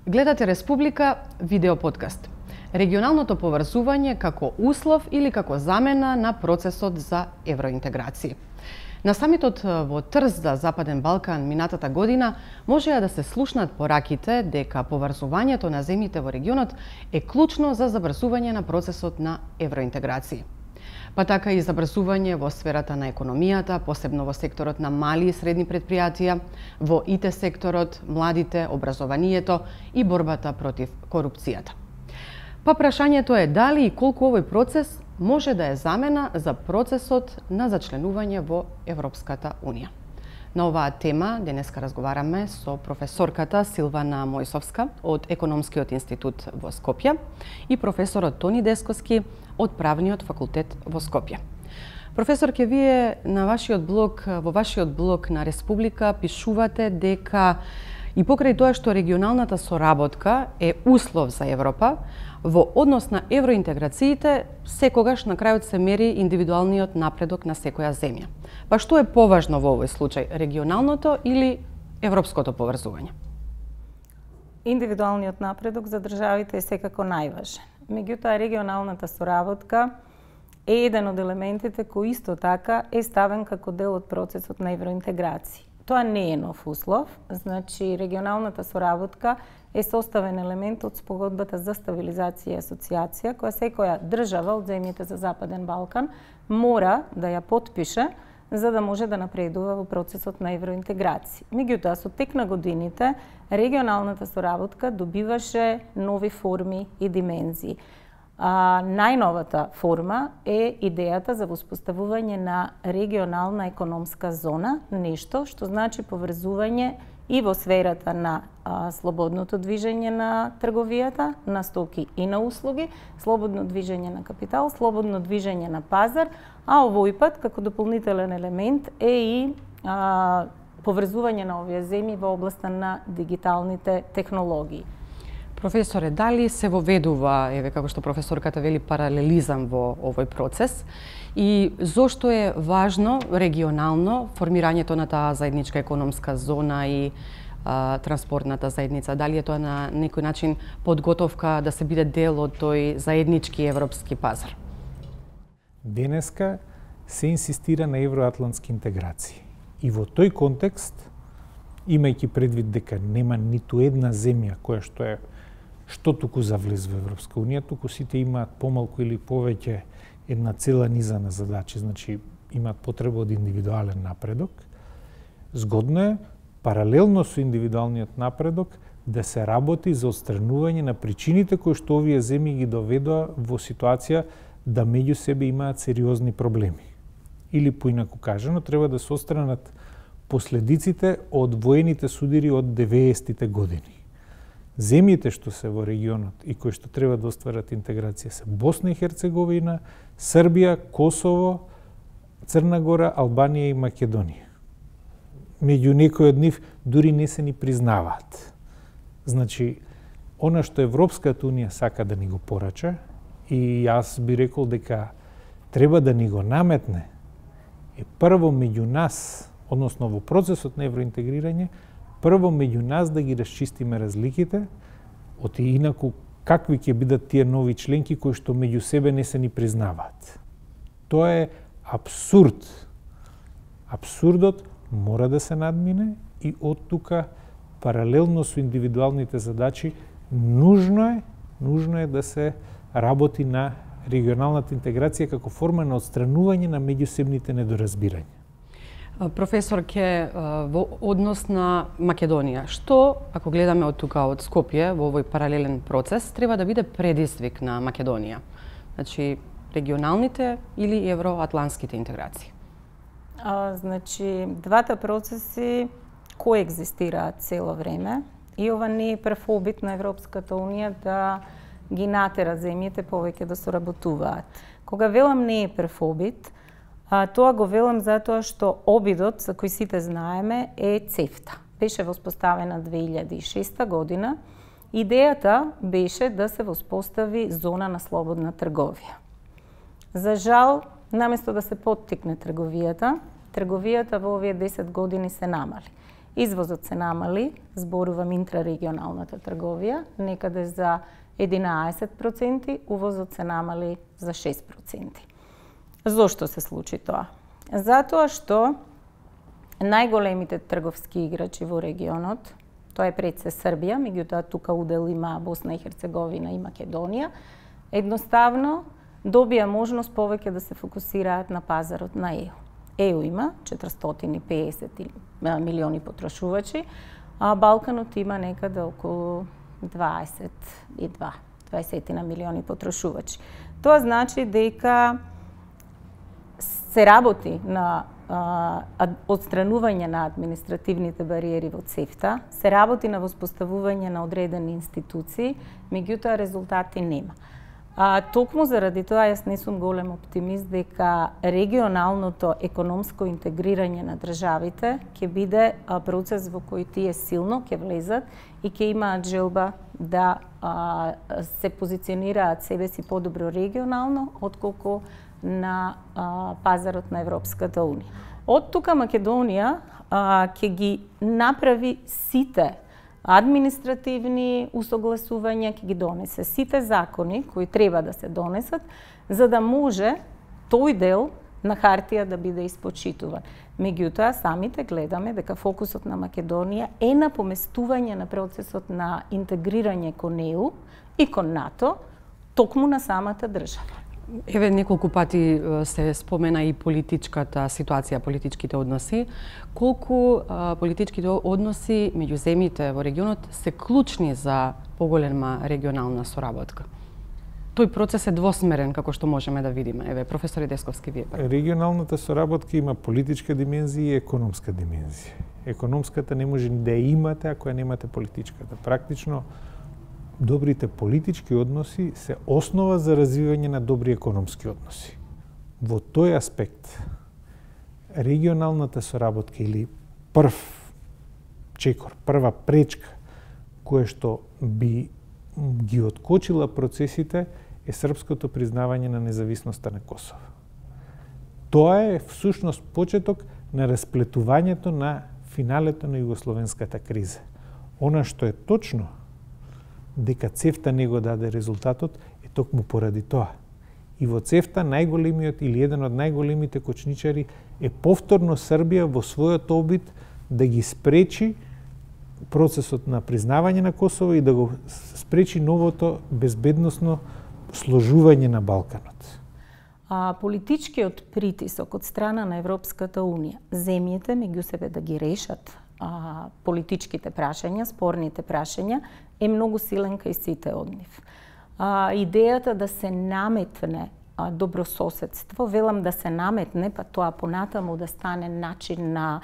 Гледате Республика видео подкаст. Регионалното поврзување како услов или како замена на процесот за евроинтеграција. На самитот во Трст за Западен Балкан минатата година можеа да се слушнат пораките дека поврзувањето на земјите во регионот е клучно за забрзување на процесот на евроинтеграција. Па така и забрзување во сферата на економијата, посебно во секторот на мали и средни предпријатија, во ИТ секторот, младите, образованието и борбата против корупцијата. Па прашањето е дали и колку овој процес може да е замена за процесот на зачленување во Европската Унија. На оваа тема денеска разговараме со професорката Силвана Мојсовска од Економскиот институт во Скопје и професорот Тони Десковски од Правниот факултет во Скопје. Професорке, вие во вашиот блог на Республика пишувате дека и покрај тоа што регионалната соработка е услов за Европа, во однос на евроинтеграциите, секогаш на крајот се мери индивидуалниот напредок на секоја земја. Па што е поважно во овој случај, регионалното или европското поврзување? Индивидуалниот напредок за државите е секако најважен. Меѓутоа, регионалната соработка е еден од елементите кој исто така е ставен како дел од процесот на евроинтеграција. Тоа не е нов услов, значи регионалната соработка е составен елемент од спогодбата за стабилизација и асоциација, која секоја држава од земјите за Западен Балкан мора да ја потпише за да може да напредува во процесот на евроинтеграција. Меѓутоа, со тек на годините, регионалната соработка добиваше нови форми и димензии. Најновата форма е идејата за воспоставување на регионална економска зона, нешто што значи поврзување и во сферата на слободното движење на трговијата, на стоки и на услуги, слободно движење на капитал, слободно движење на пазар, а овој пат како дополнителен елемент е и поврзување на овие земји во областа на дигиталните технологии. Професоре, дали се воведува, како што професорката вели, паралелизам во овој процес и зошто е важно регионално формирањето на таа заедничка економска зона и транспортната заедница? Дали е тоа на некој начин подготовка да се биде дел од тој заеднички европски пазар? Денеска се инсистира на евроатлантски интеграции. И во тој контекст, имајќи предвид дека нема ниту една земја што туку за влез во Европска Унија, туку сите имаат помалку или повеќе една цела низа на задачи, значи имаат потреба од индивидуален напредок. Згодно е, паралелно со индивидуалниот напредок, да се работи за отстранување на причините кои што овие земји ги доведоа во ситуација да меѓу себе имаат сериозни проблеми. Или поинаку кажано, треба да се отстранат последиците од воените судири од 90-тите години. Земјите што се во регионот и кои што треба да остварат интеграција се Босна и Херцеговина, Србија, Косово, Црна Гора, Албанија и Македонија. Меѓу некои од нив дури не се ни признаваат. Значи, она што Европската Унија сака да ни го порача, и јас би рекол дека треба да ни го наметне, е прво меѓу нас, односно во процесот на евроинтегрирање, прво меѓу нас да ги расчистиме разликите, оти инаку какви ќе бидат тие нови членки кои што меѓу себе не се ни признаваат. Тоа е апсурд. Апсурдот мора да се надмине и од тука, паралелно со индивидуалните задачи, нужно е да се работи на регионалната интеграција како форма на отстранување на меѓусебните недоразбирања. Професорке, во однос на Македонија, што, ако гледаме од тука, од Скопје, во овој паралелен процес, треба да биде предизвик на Македонија? Значи, регионалните или евроатлантските интеграции? Значи, двата процеси коегзистираат цело време и ова не е прв обид на Европската Унија да ги натера земјите повеќе да соработуваат. Кога велам не е прв обид, тоа го велам затоа што обидот, за кој сите знаеме, е ЦЕФТА. Беше воспоставена 2006 година. Идејата беше да се воспостави зона на слободна трговија. За жал, наместо да се поттикне трговијата во овие 10 години се намали. Извозот се намали, зборувам интрарегионалната трговија, некаде за 11%, увозот се намали за 6%. Зошто се случи тоа? Затоа што најголемите трговски играчи во регионот, тоа е пред се Србија, меѓутоа тука удел има Босна и Херцеговина и Македонија, едноставно добија можност повеќе да се фокусираат на пазарот на ЕУ. ЕУ има 450 милиони потрошувачи, а Балканот има некаде околу 20 милиони потрошувачи. Тоа значи дека се работи на отстранување на административните бариери во ЦЕФТА, се работи на воспоставување на одредени институции, меѓутоа резултати нема. Токму заради тоа јас не сум голем оптимист дека регионалното економско интегрирање на државите ќе биде процес во кој тие силно ќе влезат и ќе имаат желба да се позиционираат себе си подобро регионално, отколку на пазарот на Европската Унија. Од тука Македонија ќе ги направи сите административни усогласувања, ќе ги донесе сите закони кои треба да се донесат, за да може тој дел на хартија да биде испочитуван. Меѓутоа, самите гледаме дека фокусот на Македонија е на поместување на процесот на интегрирање кон ЕУ и кон НАТО, токму на самата држава. Еве, неколку пати се спомена и политичката ситуација, политичките односи. Колку политичките односи меѓу земјите во регионот се клучни за поголема регионална соработка? Тој процес е двосмерен, како што можеме да видиме. Еве, професор Десковски, вие прв. Регионалната соработка има политичка димензија и економска димензија. Економската не може да ја имате ако ја немате политичката. Практично, добрите политички односи се основа за развивање на добри економски односи. Во тој аспект, регионалната соработка или прв чекор, прва пречка која што би ги откочила процесите е српското признавање на независноста на Косово. Тоа е всушност почеток на расплетувањето на финалето на југословенската криза. Она што е точно дека ЦЕФТА не го даде резултатот е токму поради тоа. И во ЦЕФТА најголемиот или еден од најголемите кочничари е повторно Србија во својот обид да ги спречи процесот на признавање на Косово и да го спречи новото безбедносно сложување на Балканот. Политичкиот притисок од страна на Европската Унија, земјите меѓу себе да ги решат политичките прашања, спорните прашања, е многу силен кај сите од нив. Идејата да се наметне добрососедство, велам да се наметне, па тоа понатаму да стане начин на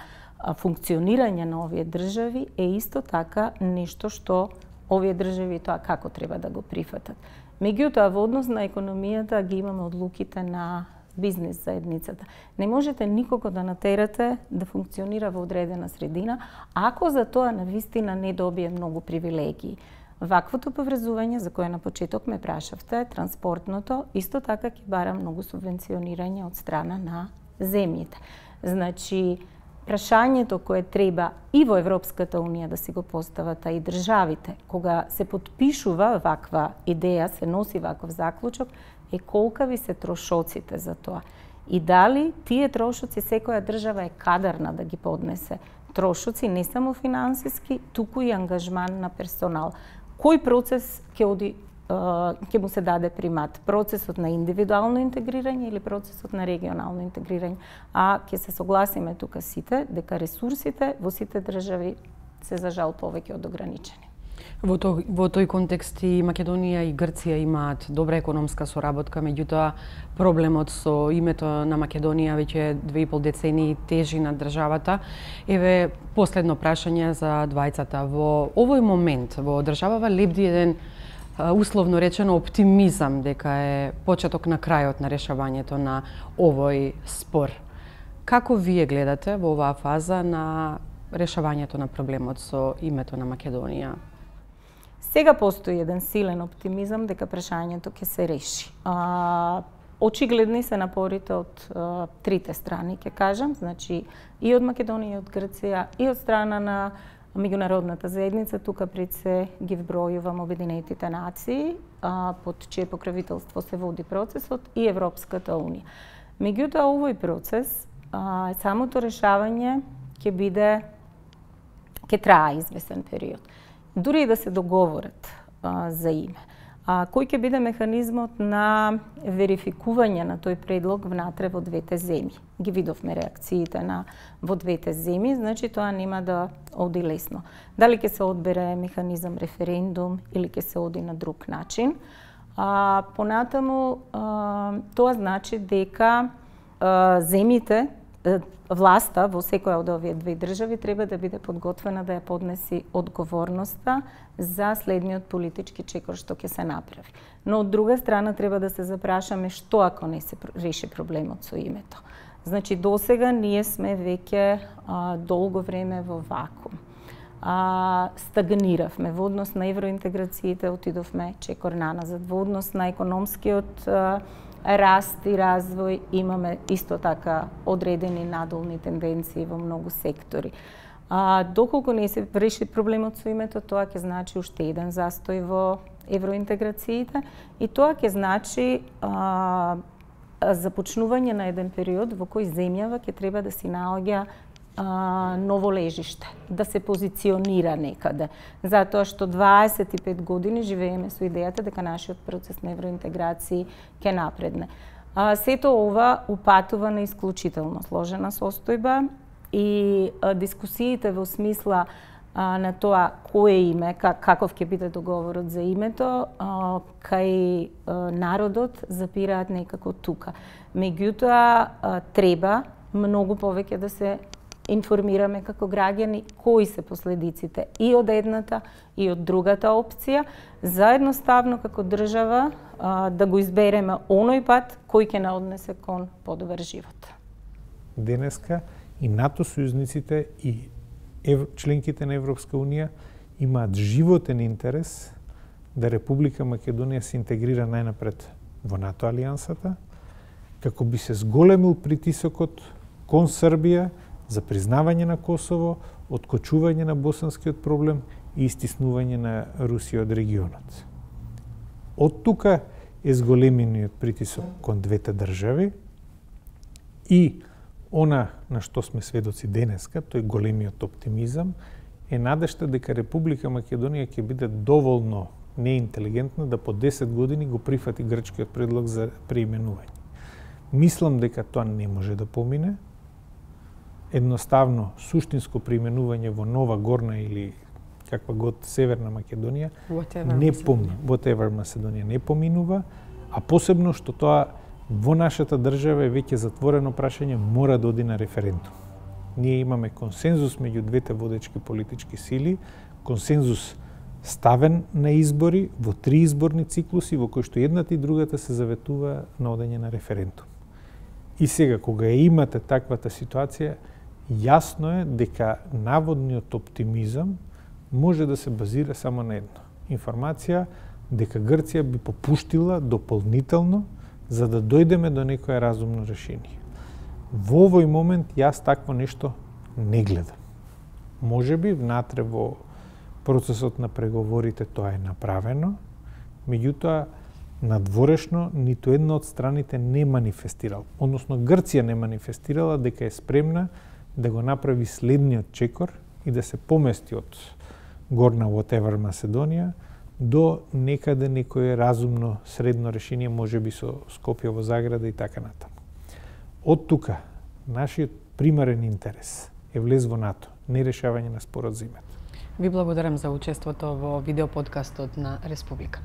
функционирање на овие држави, е исто така нешто што овие држави тоа како треба да го прифатат. Меѓутоа, во однос на економијата ги имаме одлуките на бизнес заедницата. Не можете никого да натерате да функционира во одредена средина, ако за тоа навистина не добие многу привилегии. Ваквото поврзување, за кое на почеток ме прашавте, транспортното, исто така ќе бара многу субвенционирање од страна на земјите. Значи, прашањето кое треба и во Европската Унија да си го постават, а и државите, кога се потпишува ваква идеја, се носи ваков заклучок, е колкави се трошоците за тоа. И дали тие трошоци секоја држава е кадарна да ги поднесе. Трошоци не само финансиски, туку и ангажман на персонал. Кој процес ќе му се даде примат? Процесот на индивидуално интегрирање или процесот на регионално интегрирање? А ќе се согласиме тука сите дека ресурсите во сите држави се за жал повеќе од ограничени. Во тој контекст и Македонија и Грција имаат добра економска соработка, меѓутоа проблемот со името на Македонија веќе 2,5 децении тежи на државата. Еве, последно прашање за двајцата. Во овој момент во државава лебди еден условно речено оптимизам дека е почеток на крајот на решавањето на овој спор. Како вие гледате во оваа фаза на решавањето на проблемот со името на Македонија? Сега постои еден силен оптимизам дека прашањето ќе се реши. очигледни се напорите од трите страни, ќе кажам, значи и од Македонија, и од Грција, и од страна на меѓународната заедница, тука пред се ги вбројувам Обединетите нации, под чие покровителство се води процесот, и Европската унија. Меѓутоа, овој процес, самото решавање ќе трае известен период. Дури и да се договорат за име. Кој ќе биде механизмот на верификување на тој предлог внатре во двете земји? Ги видовме реакциите во двете земји, значи тоа нема да оди лесно. Дали ќе се одбере механизам референдум или ќе се оди на друг начин? Понатаму, тоа значи дека земјите, власта во секоја од овие две држави треба да биде подготвена да ја поднеси одговорноста за следниот политички чекор што ќе се направи. Но од друга страна треба да се запрашаме што ако не се реши проблемот со името. Значи досега ние сме веќе долго време во вакуум. Стагниравме во однос на евроинтеграциите, отидовме чекор наназад, во однос на економскиот раст и развој имаме исто така одредени надолни тенденции во многу сектори. Доколку не се реши проблемот со името, тоа ќе значи уште еден застој во евроинтеграциите и тоа ќе значи започнување на еден период во кој земјава ќе треба да си наоѓа ново лежиште, да се позиционира некаде. Затоа што 25 години живееме со идејата дека нашиот процес на евроинтеграција ќе напредне. Сето ова упатува на исклучително сложена состојба и дискусиите во смисла на тоа кое име, каков ќе биде договорот за името, кај народот запираат некако тука. Меѓутоа, треба многу повеќе да се информираме како граѓани кои се последиците и од едната и од другата опција, заедноставно како држава да го избереме оној пат кој ќе не однесе кон подобар живот. Денеска и НАТО сојузниците и членките на Европска унија имаат животен интерес да Република Македонија се интегрира најнапред во НАТО алијансата, како би се зголемил притисокот кон Србија за признавање на Косово, откочување на босанскиот проблем и истиснување на Русија од регионот. Од тука е зголемениот притисок кон двете држави и она на што сме сведоци денеска, тој големиот оптимизам, е надежта дека Република Македонија ќе биде доволно неинтелигентна да по 10 години го прифати грчкиот предлог за преименување. Мислам дека тоа не може да помине. Едноставно, суштинско преименување во Нова Горна или каква год Северна Македонија whatever Macedonија не поминува, а посебно што тоа во нашата држава е веќе затворено прашање, мора да оди на референдум. Ние имаме консензус меѓу двете водечки политички сили, консензус ставен на избори во 3 изборни циклуси во кои што едната и другата се заветува на одење на референдум. И сега, кога имате таквата ситуација, јасно е дека наводниот оптимизам може да се базира само на едно. Информација дека Грција би попуштила дополнително за да дојдеме до некое разумно решение. Во овој момент јас такво нешто не гледам. Можеби внатре во процесот на преговорите тоа е направено, меѓутоа надворешно ниту една од страните не манифестирал, односно Грција не манифестирала дека е спремна да го направи следниот чекор и да се помести од Горна whatever Macedonија до некаде некое разумно средно решение, можеби со Скопје во заграда и така натаму. Од тука, нашиот примарен интерес е влез во НАТО, не решавање на спорот за името. Ви благодарам за учеството во видеоподкастот на Республика.